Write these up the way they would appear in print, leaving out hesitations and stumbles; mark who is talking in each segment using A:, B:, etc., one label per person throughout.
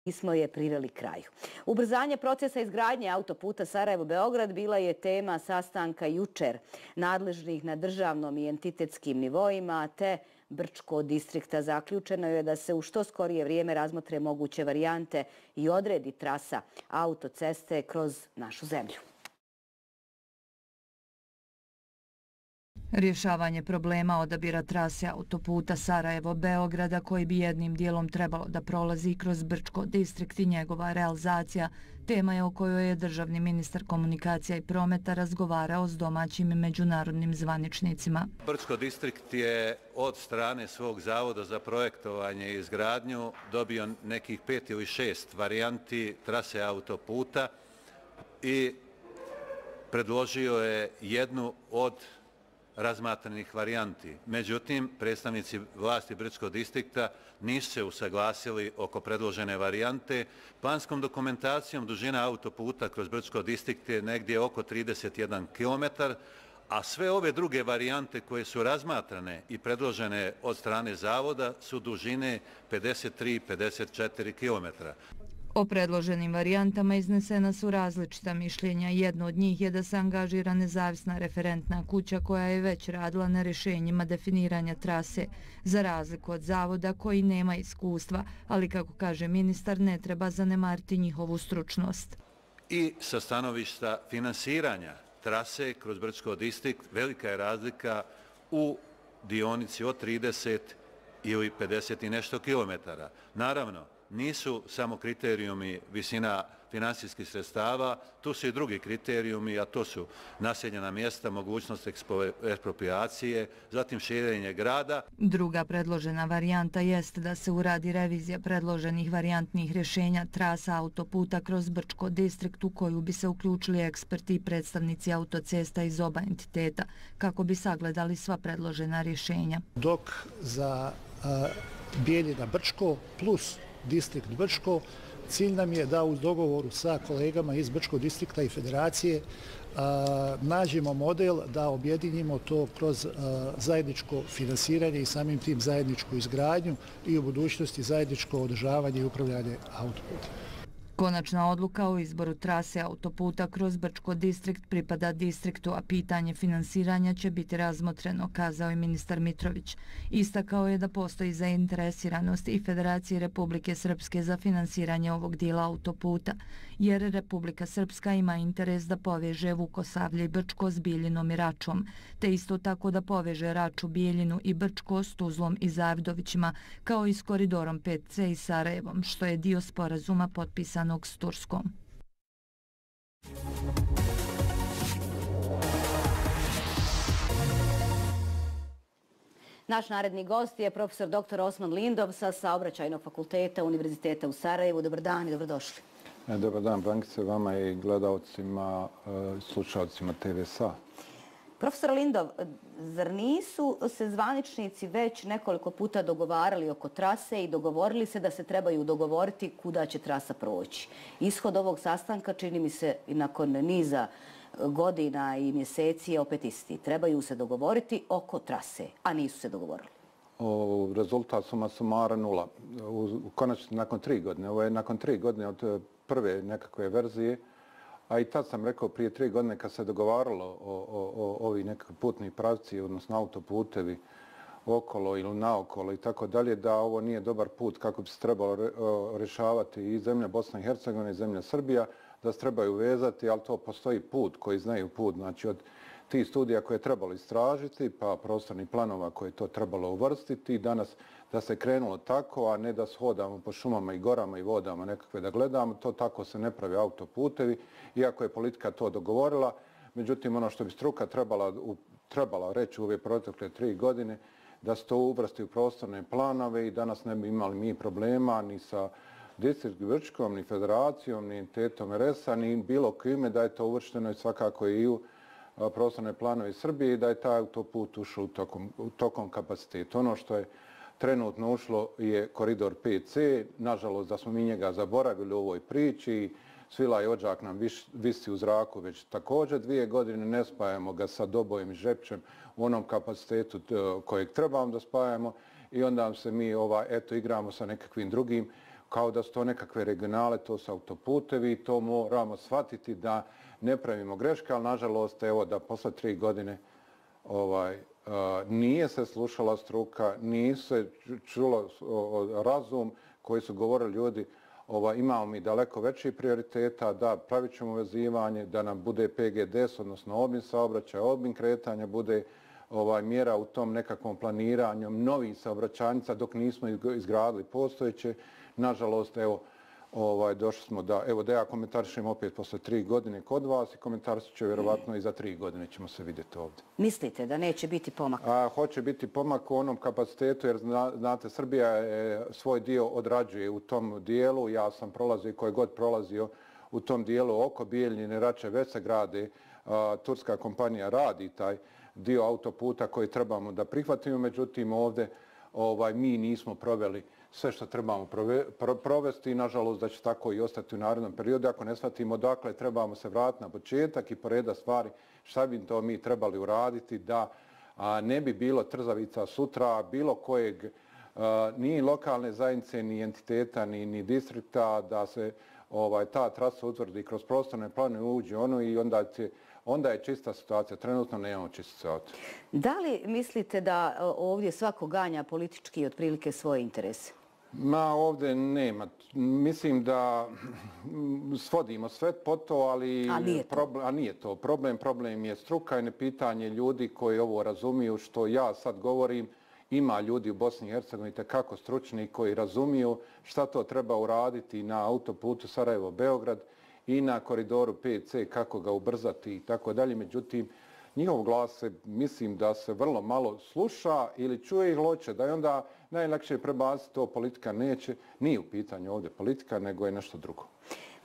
A: Nismo je priveli kraju. Ubrzanje procesa izgradnje autoputa Sarajevo-Beograd bila je tema sastanka jučer nadležnih na državnom i entitetskim nivoima, te Brčko distrikta. Zaključeno je da se u što skorije vrijeme razmotre moguće varijante i odredi trasa autoceste kroz našu zemlju.
B: Rješavanje problema odabira trase autoputa Sarajevo-Beograda koji bi jednim dijelom trebalo da prolazi kroz Brčko distrikt i njegova realizacija, tema je o kojoj je državni ministar komunikacija i prometa razgovarao s domaćim i međunarodnim zvaničnicima.
C: Brčko distrikt je od strane svog zavoda za projektovanje i izgradnju dobio nekih 5 ili 6 varijanti trase autoputa i predložio je jednu od razmatranih varijanti. Međutim, predstavnici vlasti Brčkog distrikta nisu se usaglasili oko predložene varijante. Planskom dokumentacijom dužina autoputa kroz Brčko distrikt je negdje oko 31 km, a sve ove druge varijante koje su razmatrane i predložene od strane zavoda su dužine 53-54 km.
B: O predloženim varijantama iznesena su različita mišljenja. Jedno od njih je da se angažira nezavisna referentna kuća koja je već radila na rješenjima definiranja trase, za razliku od zavoda koji nema iskustva, ali kako kaže ministar, ne treba zanemariti njihovu stručnost.
C: I sa stanovišta finansiranja trase kroz Brčko distrikt velika je razlika u dionici od 30 ili 50 i nešto kilometara. Naravno, nisu samo kriterijumi visina finansijskih sredstava, tu su i drugi kriterijumi, a to su naseljena mjesta, mogućnost ekspropriacije, zatim širenje grada.
B: Druga predložena varijanta jeste da se uradi revizija predloženih varijantnih rješenja trasa autoputa kroz Brčko distrikt u koju bi se uključili eksperti i predstavnici autocesta iz oba entiteta kako bi sagledali sva predložena rješenja.
D: Dok za Bijeljina Brčko plus distrikt Brčko, cilj nam je da uz dogovoru sa kolegama iz Brčkog distrikta i federacije nađemo model da objedinimo to kroz zajedničko finansiranje i samim tim zajedničku izgradnju i u budućnosti zajedničko održavanje i upravljanje autoputa.
B: Konačna odluka o izboru trase autoputa kroz Brčko distrikt pripada distriktu, a pitanje finansiranja će biti razmotreno, kazao je ministar Mitrović. Istakao je da postoji zainteresiranost i Federacije Republike Srpske za finansiranje ovog dijela autoputa, jer Republika Srpska ima interes da poveže Vukosavlje i Brčko s Biljinom i Račom, te isto tako da poveže Raču, Bijeljinu i Brčko s Tuzlom i Zavidovićima, kao i s koridorom 5C i Sarajevom, što je dio sporazuma potpisanog s Turskom.
A: Naš naredni gost je profesor dr. Osman Lindov sa Saobraćajnog fakulteta Univerziteta u Sarajevu. Dobar dan i dobrodošli.
E: Dobar dan, Brankice, vama i gledalcima, slušalcima TV-a.
A: Profesor Lindov, zar nisu se zvaničnici već nekoliko puta dogovarali oko trase i dogovorili se da se trebaju dogovoriti kuda će trasa proći? Ishod ovog sastanka, čini mi se, i nakon niza godina i mjeseci je opet isti. Trebaju se dogovoriti oko trase, a nisu se dogovorili.
E: Rezultat suma sumara 0. Konačno nakon 3 godine. Ovo je nakon 3 godine od prve nekakve verzije. A i tad sam rekao prije 3 godine kad se dogovaralo o ovi nekakvi putni pravci, odnosno autoputevi okolo ili naokolo i tako dalje, da ovo nije dobar put kako bi se trebalo rješavati i zemlja Bosna i Hercegovina i zemlja Srbija, da se trebaju vezati, ali to postoji put koji znaju put. Znači od tih studija koje je trebalo istražiti, pa prostornih planova koje je to trebalo uvrstiti, danas da se krenulo tako, a ne da se hodamo po šumama i gorama i vodama nekakve da gledamo, to tako se ne pravi autoputevi, iako je politika to dogovorila. Međutim, ono što bi struka trebala reći u ove protekle 3 godine, da se to uvrsti u prostorne planove i danas ne bi imali mi problema ni sa distrikt Brčkom, ni federacijom, ni entitetom RS-a, ni bilo kime da je to uvršteno i svakako i u prostorne planove Srbije i da je taj autoput ušao u tokom kapaciteta. Ono što je trenutno ušlo je koridor 5C, nažalost da smo mi njega zaboravili u ovoj priči, Svila i Odžak nam visi u zraku već također 2 godine, ne spajamo ga sa Dobojem i Žepčem u onom kapacitetu kojeg trebamo da spajamo i onda se mi igramo sa nekakvim drugim kao da su to nekakve regionale, to su autoputevi, to moramo shvatiti da ne pravimo greške, ali nažalost, evo da posle 3 godine nije se slušala struka, nije se čulo razum koji su govorili ljudi, imamo mi daleko veći prioriteta, da pravit ćemo vezivanje, da nam bude PGDS, odnosno obim saobraćaja, obim kretanja, bude mjera u tom nekakvom planiranju novih saobraćajnica dok nismo izgradili postojeće. Nažalost, evo, došli smo da ja komentarišem opet posle 3 godine kod vas i komentarišit ću vjerovatno i za 3 godine ćemo se vidjeti ovdje.
A: Mislite da neće biti pomak?
E: Hoće biti pomak u onom kapacitetu jer znate Srbija svoj dio odrađuje u tom dijelu. Ja sam prolazio i koji god prolazio u tom dijelu oko Bijeljine, Rače, već se grade. Turska kompanija radi taj dio autoputa koji trebamo da prihvatimo, međutim ovdje mi nismo proveli sve što trebamo provesti i nažalost da će tako i ostati u narednom periodu. Ako ne shvatimo dakle trebamo se vratiti na početak i poredati stvari šta bi to mi trebali uraditi da ne bi bilo trzavica sutra bilo kojeg ni lokalne zajednice, ni entiteta, ni distrikta da se ta trasa utvrdi kroz prostorne plane uđe i onda je čista situacija. Trenutno nemamo čistu situaciju.
A: Da li mislite da ovdje svako ganja politički otprilike svoje interese?
E: Ovdje nema. Mislim da svodimo sve po to, ali nije to. Problem je struka i nepitanje ljudi koji ovo razumiju što ja sad govorim. Ima ljudi u Bosni i Hercegovini kako stručni koji razumiju šta to treba uraditi na autoputu Sarajevo-Beograd i na koridoru 5C, kako ga ubrzati i tako dalje. Međutim, njihov glas se, mislim da se vrlo malo sluša ili čuje ih loće, da je onda najlakše prebaciti to, politika neće. Nije u pitanju ovdje politika, nego je nešto drugo.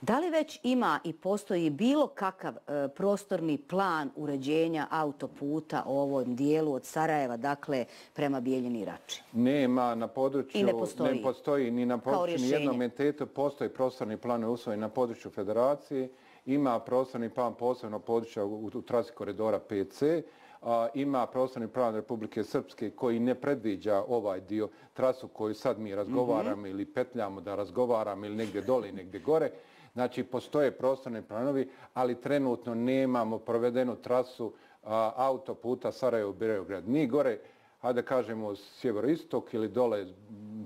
A: Da li već ima i postoji bilo kakav prostorni plan uređenja autoputa u ovom dijelu od Sarajeva, dakle, prema Bijeljini i Rači?
E: Nema na području, ne postoji ni na području nijednog entiteta, postoji prostorni plan usvojen na području federacije, ima prostorni plan posebno područja u trasi koridora 5C, ima prostorni plan Republike Srpske koji ne predviđa ovaj dio trasu koju sad mi razgovaramo ili petljamo da razgovaramo ili negdje dole i negdje gore. Znači, postoje prostorni planovi, ali trenutno nemamo provedenu trasu autoputa Sarajevo-Beograd. Ni gore, hajde kažemo sjeveroistok ili dole,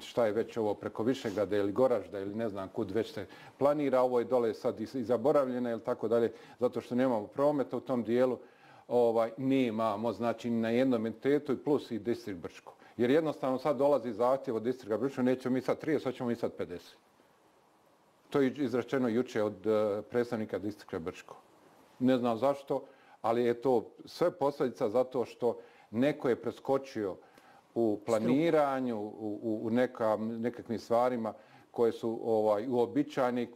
E: šta je već ovo preko Višegrada ili Goražda ili ne znam kud već se planira. Ovo je dole sad i zaboravljeno ili tako dalje, zato što nemamo prometa u tom dijelu. Nemamo, znači, na jednom entitetu i plus i distrikt Brčko. Jer jednostavno sad dolazi zahtjev od distrikta Brčko, nećemo mi sad 30, hoćemo mi sad 50. To je izrečeno juče od predstavnika distrikta Brčko. Ne znam zašto, ali je to sve posljedica zato što neko je preskočio u planiranju, u nekakvim stvarima koje su uobičajene,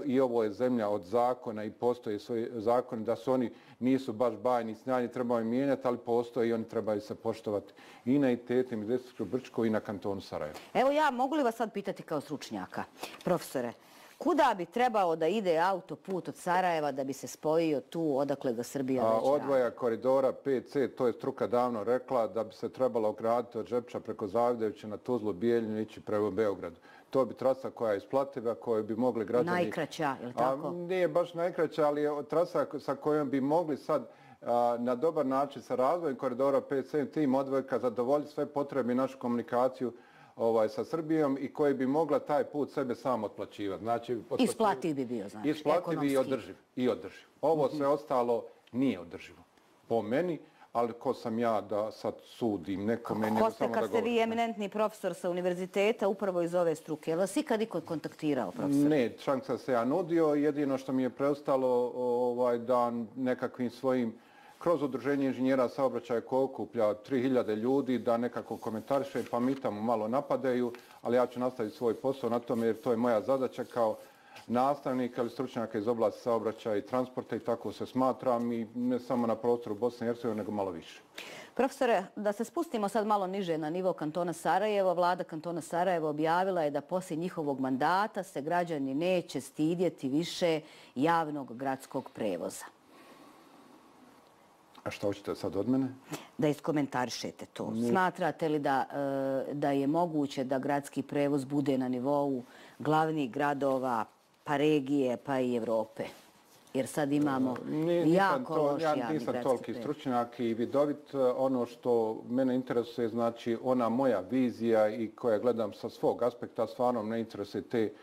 E: i ovo je zemlja od zakona i postoje svoji zakoni, da su oni nisu baš bajni, snajni, trebaju mijenjati, ali postoje i oni trebaju se poštovati i na entitetima distriktu Brčko i na kantonu Sarajevo.
A: Evo ja, mogu li vas sad pitati kao stručnjaka, profesore, kuda bi trebao da ide autoput od Sarajeva da bi se spojio tu odakle ga Srbija već radi?
E: Odvoja koridora 5C, to je struka davno rekla da bi se trebalo graditi od Žepča preko Zavidevića na Tuzlu, Bijeljinu ići prema Beogradu. To bi trasa koja je isplativa, koju bi mogli građani...
A: Najkraća, je li tako?
E: Nije baš najkraća, ali je trasa sa kojom bi mogli sad na dobar način sa razvojem koridora 5C tim odvojka zadovoljiti sve potrebe i našu komunikaciju sa Srbijom i koji bi mogla taj put sebe sam otplaćivati. Znači,
A: isplativ bi bio, znači,
E: isplativ i održiv. Ovo sve ostalo nije održivo. Po meni, ali ko sam ja da sad sudim nekome, nego samo da govorim.
A: Kad ste vi eminentni profesor sa univerziteta, upravo iz ove struke, je li vas ikad iko kontaktirao, profesor?
E: Ne, šansa se ja nudio. Jedino što mi je preostalo da nekakvim svojim kroz udruženje inženjera saobraćaja koje okuplja 3000 ljudi da nekako komentariše, pa mi tamo malo napadaju, ali ja ću nastaviti svoj posao na tome jer to je moja zadaća kao nastavnika ili stručnjaka iz oblasti saobraćaja i transporta i tako se smatram i ne samo na prostoru Bosne i Hercegovine nego malo više.
A: Profesore, da se spustimo sad malo niže na nivo kantona Sarajevo, vlada kantona Sarajevo objavila je da poslije njihovog mandata se građani neće stidjeti više javnog gradskog prevoza.
E: A što hoćete sad od mene?
A: Da iskomentarišete to. Smatrate li da je moguće da gradski prevoz bude na nivou glavnih gradova, pa regije, pa i Evrope? Jer sad imamo jako loš javni gradski prevoz.
E: Ja nisam toliki stručnjak i vidovit. Ono što mene interesuje, znači ona moja vizija i koja gledam sa svog aspekta, stvarno ne interesuje te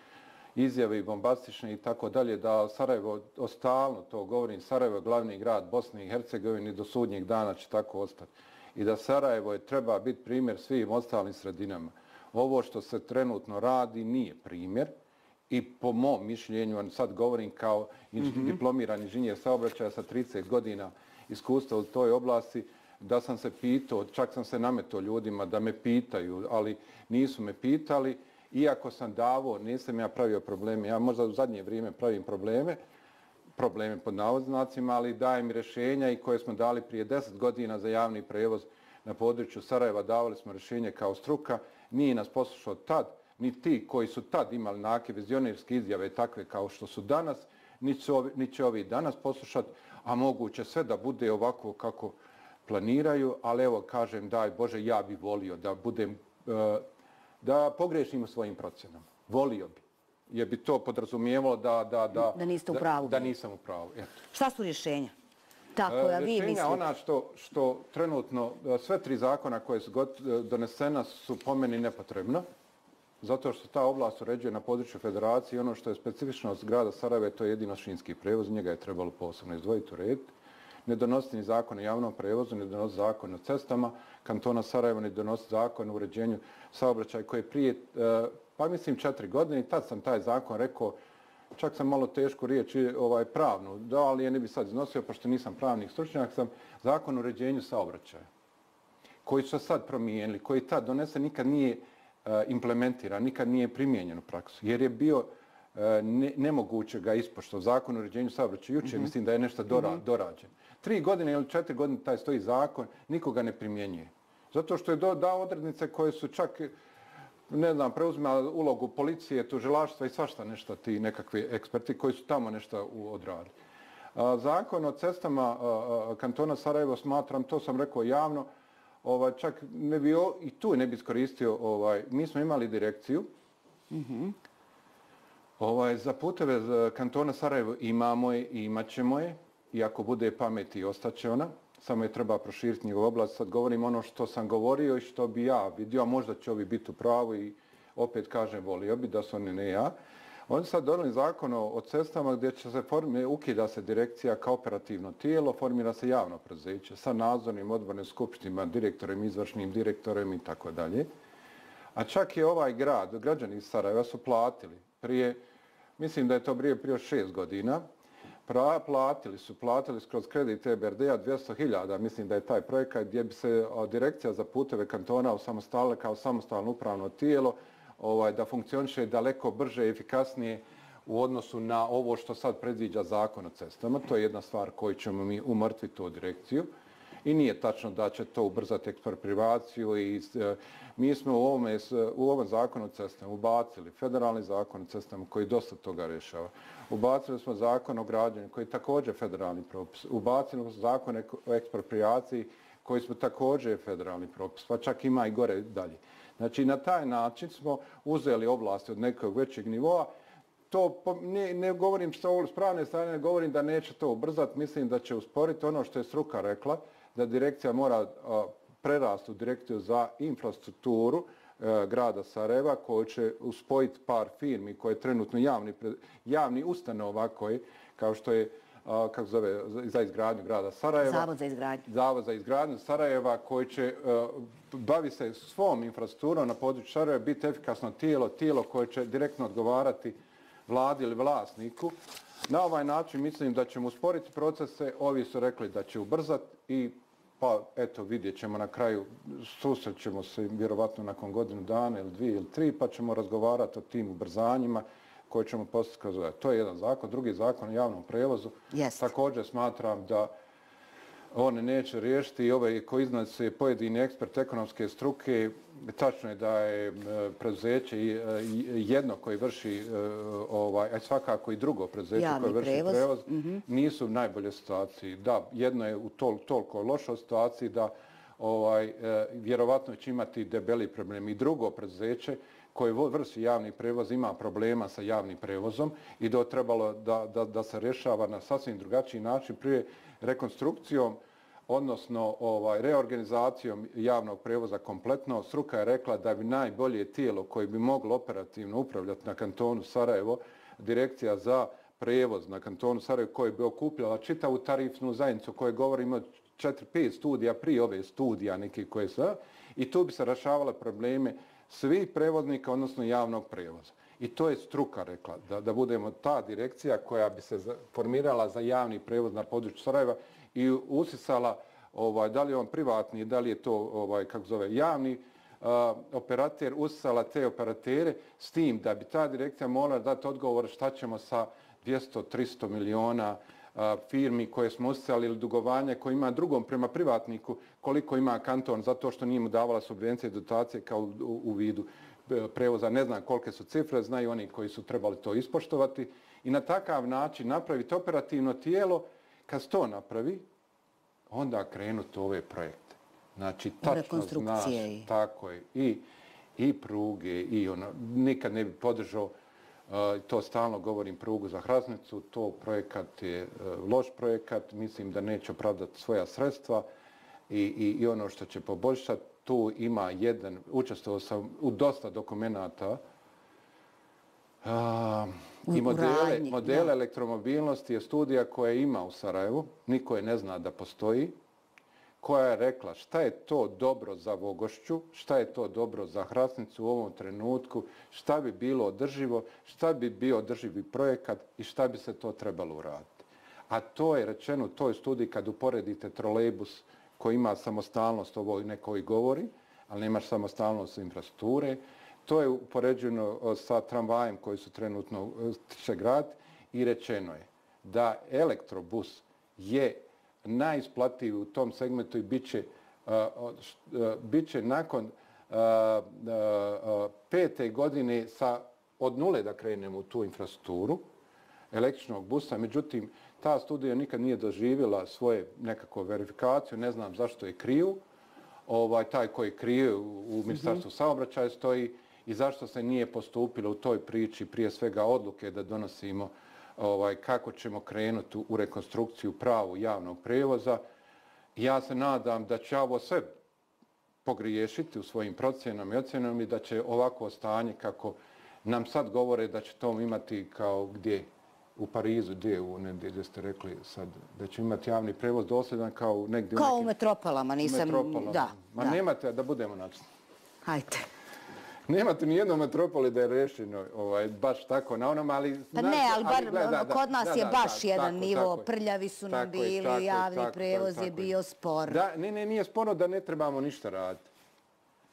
E: izjave i bombastične i tako dalje, da Sarajevo, stalno to govorim, Sarajevo je glavni grad Bosne i Hercegovine, do sudnjeg dana će tako ostati. I da Sarajevo treba biti primjer svim ostalim sredinama. Ovo što se trenutno radi nije primjer i po mom mišljenju, sad govorim kao diplomirani inženjer saobraćaja sa 30 godina iskustva u toj oblasti, da sam se pitao, čak sam se nametao ljudima da me pitaju, ali nisu me pitali. Iako sam davao, nisam ja pravio probleme. Ja možda u zadnje vrijeme pravim probleme pod navodnicima, ali dajem rješenja i koje smo dali prije 10 godina za javni prevoz na području Sarajeva. Davali smo rješenje kao struka. Nije nas poslušao tad, ni ti koji su tad imali neke vizionirske izjave takve kao što su danas, ni će ovi danas poslušati, a moguće sve da bude ovako kako planiraju, ali evo kažem, daj Bože, ja bih volio da budem da pogrešimo svojim procjenama. Volio bi. Jer bi to podrazumijevalo
A: da niste u pravu.
E: Da nisam u pravu. Eto.
A: Šta su rješenja? Ta koja vi mislite?
E: Rješenja ona što trenutno, sve 3 zakona koje su donesena su po meni nepotrebna. Zato što ta oblast uređuje na području federacije i ono što je specifičnost grada Sarajeva, to je jedino šinski prevoz. Njega je trebalo posebno izdvojiti, urediti. Ne donositi ni zakon o javnom prevozu, ne donositi zakon o cestama kantona Sarajeva, ne donositi zakon o uređenju saobraćaja koji je prije, pa mislim 4 godine i tad sam taj zakon rekao, čak sam malo tešku riječ pravnu, da, ali je ne bi sad iznosio, pošto nisam pravnik stručnjak, sam zakon o uređenju saobraćaja koji su sad promijenili, koji tad donese nikad nije implementiran, nikad nije primijenjen u praksu, jer je bio nemoguće ga ispoštovati. Zakon o uređenju saobraćaja jučer, mislim da je nešto dorađen. 3 godine ili 4 godine taj stoji zakon, nikoga ne primjenjuje. Zato što je dao odrednice koje su čak, ne znam, preuzimali ulogu policije, tužilaštva i svašta nešto ti nekakvi eksperti koji su tamo nešto odradili. Zakon o cestama kantona Sarajevo smatram, to sam rekao javno, čak ne bi i tu ne bi iskoristio, mi smo imali direkciju, za puteve kantona Sarajevo imamo je i imat ćemo je, i ako bude pameti ostaće ona, samo je treba proširiti njegovu oblast. Sad govorim ono što sam govorio i što bi ja vidio, a možda će ovi biti u pravu i opet kažem volio bi da su oni ne ja. Oni sad donijeli zakon o cestama gdje će se ukida se direkcija kao operativno tijelo, formira se javno preduzeće sa nadzornim odbornim skupštinama, direktorima, izvršnim direktorima i tako dalje. A čak je ovaj grad, građani iz Sarajeva su platili prije, mislim da je to prije 6 godina, platili kroz kredit EBRD-a 200.000, mislim da je taj projekat gdje bi se direkcija za puteve kantona osamostalila kao samostalno upravno tijelo, da funkcioniše daleko brže i efikasnije u odnosu na ovo što sad predviđa zakon o cestama. To je jedna stvar koju ćemo mi umrtviti tu direkciju. I nije tačno da će to ubrzati eksproprivaciju i mi smo u ovom zakonu o cestama ubacili federalni zakon o cestama koji dosta toga rješava. Ubacili smo zakon o građenju koji je također federalni propis. Ubacili smo zakon o ekspropriaciji koji smo također federalni propis, pa čak ima i gore dalje. Znači na taj način smo uzeli oblasti od nekog većeg nivoa. To ne govorim s pravne strane, ne govorim da neće to ubrzati, mislim da će usporiti ono što je struka rekla, da direkcija mora prerasti u direkciju za infrastrukturu grada Sarajeva koji će uspojiti par firmi koje je trenutno javni ustanova koji, kao što je kako zove, za izgradnju grada Sarajeva. Zavod za izgradnju Sarajeva koji će bavi se svom infrastrukturom na području Sarajeva, biti efikasno tijelo koje će direktno odgovarati vladi ili vlasniku. Na ovaj način mislim da ćemo usporiti procese, ovi su rekli da će ubrzati i pa eto vidjet ćemo na kraju, susrećemo se vjerovatno nakon godinu dana ili 2 ili 3 pa ćemo razgovarati o tim ubrzanjima koje ćemo postići kroz ovaj. To je jedan zakon. Drugi zakon o javnom prevozu. Također smatram da on neće riješiti i ovaj koji iznose pojedini ekspert ekonomske struke, tačno je da je preduzeće jedno koji vrši, a svakako i drugo preduzeće koje vrši prevoz, nisu u najboljoj situaciji. Da, jedno je u toliko lošoj situaciji da vjerovatno će imati debeli problem. I drugo preduzeće koje vrši javni prevoz ima problema sa javnim prevozom i da je trebalo da se rješava na sasvim drugačiji način prije rekonstrukcijom, odnosno reorganizacijom javnog prevoza kompletno. Struka je rekla da bi najbolje tijelo koje bi moglo operativno upravljati na kantonu Sarajevo, direkcija za prevoz na kantonu Sarajevo koja bi okupljala čitavu tarifnu zajednicu koje govorimo o 4-5 studija prije ove studija neki koje su, i tu bi se rješavale probleme svih prevoznika, odnosno javnog prevoza. I to je struka rekla, da budemo ta direkcija koja bi se formirala za javni prevoz na području Sarajeva i usisala, da li je on privatni, da li je to javni operater, usisala te operatere s tim da bi ta direkcija morala dati odgovor šta ćemo sa 200-300 miliona firmi koje smo usisali ili dugovanje koje ima drugom prema privatniku, koliko ima kanton zato što nije mu davala subvencije i dotacije kao u vidu prevoza. Ne znam kolike su cifre, znaju oni koji su trebali to ispoštovati i na takav način napraviti operativno tijelo. Kad se to napravi, onda krenuti ove projekte. Znači, tačno znaš, tako je, i pruge, i nikad ne bi podržao, to stalno govorim, prugu za Hrasnicu, to projekat je loš projekat, mislim da neće opravdati svoja sredstva i ono što će poboljšati, tu ima učestvovao sam u dosta dokumenata i modele elektromobilnosti je studija koja ima u Sarajevu, niko je ne zna da postoji, koja je rekla šta je to dobro za Vogošću, šta je to dobro za Hrasnicu u ovom trenutku, šta bi bilo održivo, šta bi bio održivi projekat i šta bi se to trebalo uraditi. A to je rečeno u toj studiji kad uporedite trolejbus koji ima samostalnost, ovo neko i govori, ali nemaš samostalnost infrastrukture. To je upoređeno sa tramvajem koji su trenutno će graditi i rečeno je da elektrobus je najisplativiji u tom segmentu i bit će nakon 5. godine od nule da krenemo u tu infrastrukturu električnog busa. Međutim, ta studija nikad nije doživjela svoje nekakvu verifikaciju, ne znam zašto je kriju. Taj koji krije u Ministarstvu saobraćaja stoji i zašto se nije postupilo u toj priči prije svega odluke da donosimo kako ćemo krenuti u rekonstrukciju pravu javnog prevoza. Ja se nadam da će ovo sve pogriješiti u svojim procjenama i ocjenama i da će ovako stanje kako nam sad govore da će to imati kao gdje u Parizu, gdje ste rekli sad, da će imati javni prevoz dosljedan kao negdje
A: kao u metropolama, nisam... Da.
E: Ma nemate, da budemo način.
A: Hajde.
E: Nemate ni jedno metropoli da je rešeno baš tako na onom, ali...
A: Pa ne, ali bar kod nas je baš jedan nivo, prljavi su nam bili, javni prevoz je bio spor.
E: Ne, nije sporno da ne trebamo ništa raditi.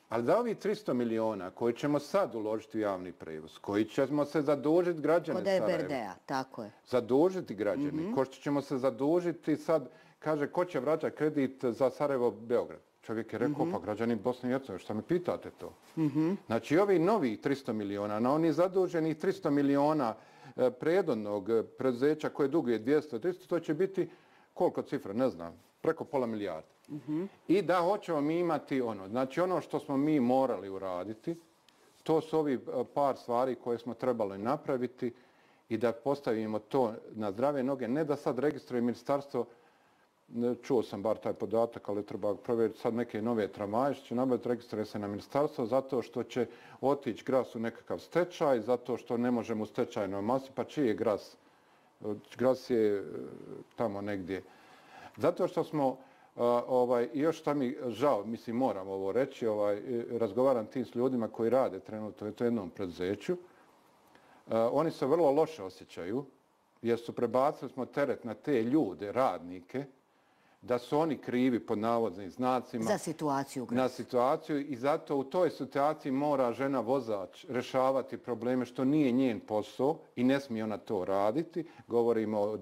E: Ali da ovi 300 miliona koji ćemo sad uložiti u javni prevoz, koji ćemo se zadužiti građane Sarajeva.
A: Kod EBRD-a, tako je.
E: Zadužiti građane, ko što ćemo se zadužiti sad, kaže, ko će vraćati kredit za Sarajevo-Beograd? Čovjek je rekao, pa građani Bosne i Hercegovine, šta me pitate to? Znači, ovi novi 300 miliona, na oni zaduženi 300 miliona predodnog preduzeća koje duguje 200-300, to će biti, koliko cifra, ne znam, preko pola milijarda. I da hoćemo mi imati znači ono što smo mi morali uraditi, to su ovi par stvari koje smo trebali napraviti i da postavimo to na zdrave noge, ne da sad registruje ministarstvo. Čuo sam bar taj podatak, ali treba provjeriti sad neke nove tramvaje, što će nabaviti, registruje se na ministarstvo, zato što će otići Gras u nekakav stečaj, zato što ne možemo u stečajnoj masi, pa čiji je Gras? Gras je tamo negdje. Zato što smo, još šta mi žao, mislim moram ovo reći, razgovaram tim s ljudima koji rade trenutno u jednom preduzeću, oni se vrlo loše osjećaju, jer su prebacili smo teret na te ljude, radnike, da su oni krivi pod navodnim znacima.
A: Za situaciju.
E: Na situaciju i zato u toj situaciji mora žena vozač rješavati probleme što nije njen posao i ne smije ona to raditi. Govorimo o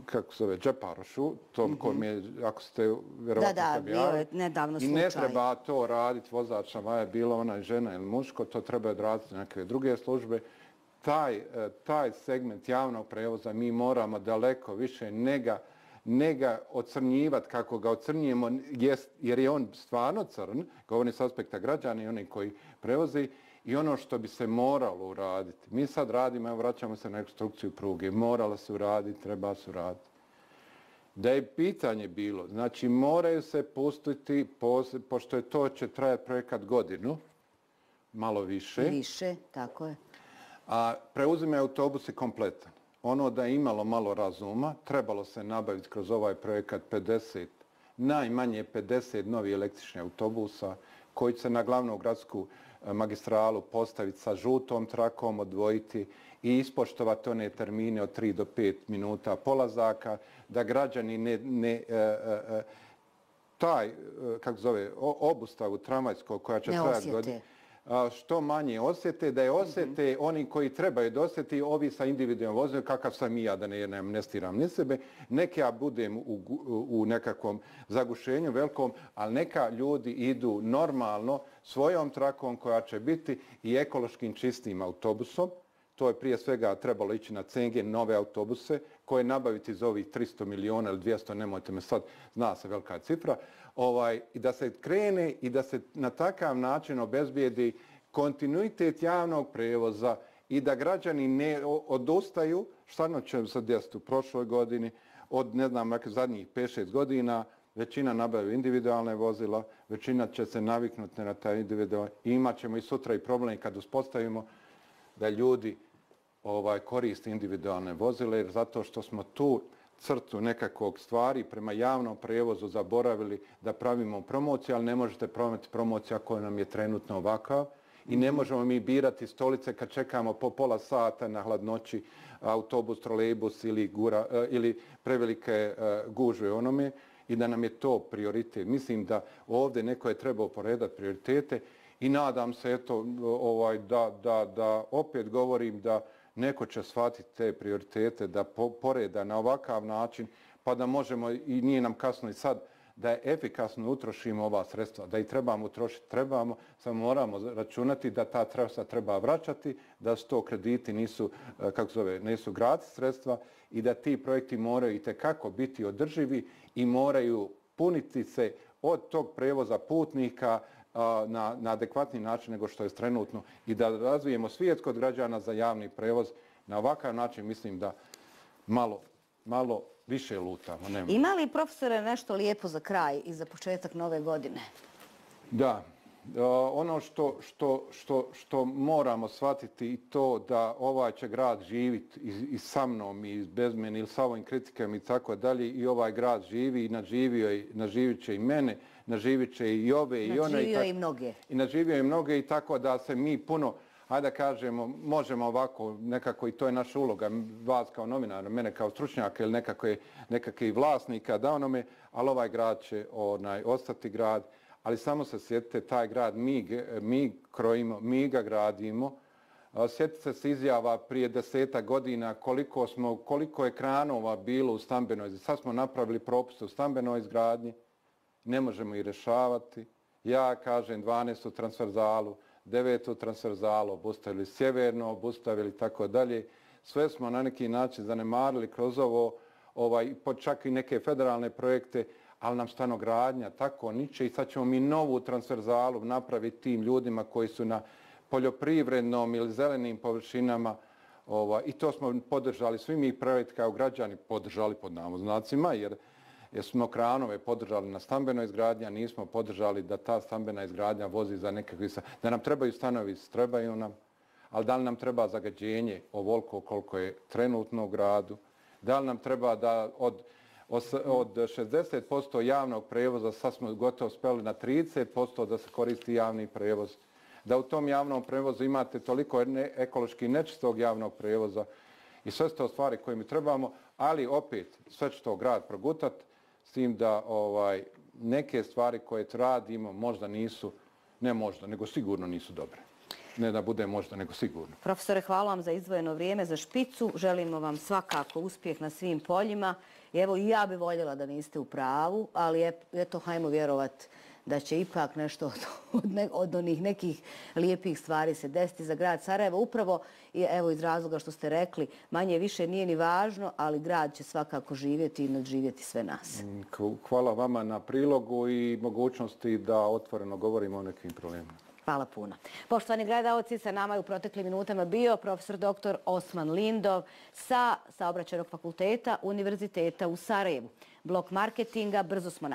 E: kako se zove, Džeparošu, tom kojem je, ako ste vjerovatno
A: Da, bio je nedavno slučaj.
E: I ne treba to raditi vozač tramvaja, bila ona žena ili muško, to treba odraditi neke druge službe. Taj segment javnog prevoza mi moramo daleko više ne ga ocrnjivati kako ga ocrnjujemo, jer je on stvarno crn, govorim s aspekta građana i oni koji prevozi, i ono što bi se moralo uraditi. Mi sad radimo, evo vraćamo se na rekonstrukciju pruge, moralo se uraditi, treba se uraditi. Da je pitanje bilo, znači moraju se pustiti, pošto je to će trajati projekat godinu, malo više.
A: Više, tako je.
E: A preuzime autobusi kompletan. Ono da je imalo malo razuma, trebalo se nabaviti kroz ovaj projekat 50, najmanje 50 novih električnih autobusa koji će se na glavnu gradsku magistralu postaviti sa žutom trakom, odvojiti i ispoštovati one termine od 3 do 5 minuta polazaka, da građani obustavu tramvajskog koja će trajati godinu, što manje osjete, da je osjete oni koji trebaju da osjeti, ovi sa individualnom vozilom, kakav sam i ja, da ne amnestiram ni sebe, neka ja budem u nekakvom zagušenju velikom, ali neka ljudi idu normalno svojom trakom koja će biti i ekološkim čistim autobusom. To je prije svega trebalo ići na CNG, nove autobuse, koje nabaviti za ovih 300 miliona ili 200, nemojte me sad, zna se velika cifra, i da se krene i da se na takav način obezbijedi kontinuitet javnog prevoza i da građani ne odustaju, šta će se desiti u prošloj godini, od ne znam, zadnjih 5-6 godina, većina nabavlja individualne vozila, većina će se naviknuti na taj individualne i imat ćemo i sutra i problem kad uspostavimo da ljudi koriste individualne vozile, jer zato što smo tu crtu nekakvog stvari prema javnom prevozu zaboravili da pravimo promociju, ali ne možete praviti promociju ako nam je trenutno ovakav i ne možemo mi birati stolice kad čekamo po pola sata na hladnoći autobus, trolejbus ili prevelike gužve onome i da nam je to prioritet. Mislim da ovdje neko je trebao poredati prioritete i nadam se da opet govorim da neko će shvatiti te prioritete, da poreda na ovakav način, pa da možemo, i nije nam kasno i sad, da efikasno utrošimo ova sredstva, da ih trebamo utrošiti, trebamo, samo moramo računati da ta sredstva treba vraćati, da su to krediti nisu gratis sredstva i da ti projekti moraju itekako biti održivi i moraju puniti se od tog prevoza putnika na adekvatni način nego što je trenutno i da razvijemo svijest kod građana za javni prevoz. Na ovakav način mislim da malo više lutamo.
A: Ima li, profesore, nešto lijepo za kraj i za početak nove godine?
E: Da. Ono što moramo shvatiti i to da ovaj će grad živiti i sa mnom i bez mene ili sa ovim kritikama i tako dalje i ovaj grad živi i naživit će i mene, naživit će i ove i one.
A: Naživio i mnoge.
E: I naživio i mnoge i tako da se mi puno, hajde da kažemo, možemo ovako nekako i to je naša uloga, vas kao novinara, mene kao stručnjaka ili nekakvih vlasnika, da onome, ali ovaj grad će ostati grad. Ali samo se sjetite, taj grad mi krojimo, mi ga gradimo. Sjetite se izjava prije 10 godina koliko je kranova bilo u stambenoj izgradnji. Sad smo napravili propise u stambenoj izgradnji, ne možemo ih rješavati. Ja kažem 12. transverzalu, 9. transverzalu, obustavili sjeverno, obustavili tako dalje. Sve smo na neki način zanemarili kroz ovo, čak i neke federalne projekte, ali nam stanogradnja tako niče i sad ćemo mi novu transverzalu napraviti tim ljudima koji su na poljoprivrednom ili zelenim površinama i to smo podržali, svi mi projekti kao građani podržali pod navodnicima jer smo kranove podržali na stambenoj izgradnji, a nismo podržali da ta stambena izgradnja vozi za nekakvi, da nam trebaju stanovi, trebaju nam, ali da li nam treba zagađenje ovoliko koliko je trenutno u gradu, da li nam treba da od 60% javnog prevoza sad smo gotovo speli na 30% da se koristi javni prevoz. Da u tom javnom prevozu imate toliko ekološki nečistog javnog prevoza i sve su to stvari koje mi trebamo, ali opet sve će to grad progutati s tim da neke stvari koje radimo možda nisu, ne možda, nego sigurno nisu dobre. Ne da bude možda, nego sigurno.
A: Profesore, hvala vam za izdvojeno vrijeme za špicu. Želimo vam svakako uspjeh na svim poljima. I evo, i ja bi voljela da niste u pravu, ali eto, hajmo vjerovat da će ipak nešto od onih nekih lijepih stvari se desiti za grad Sarajevo. Upravo, evo iz razloga što ste rekli, manje više nije ni važno, ali grad će svakako živjeti i nadživjeti sve nas.
E: Hvala vama na prilogu i mogućnosti da otvoreno govorimo o nekim problemima.
A: Hvala puno. Poštovani gledalci, sa nama je u proteklim minutama bio profesor dr. Osman Lindov sa Saobraćajnog fakulteta Univerziteta u Sarajevu. Blok marketinga, brzo smo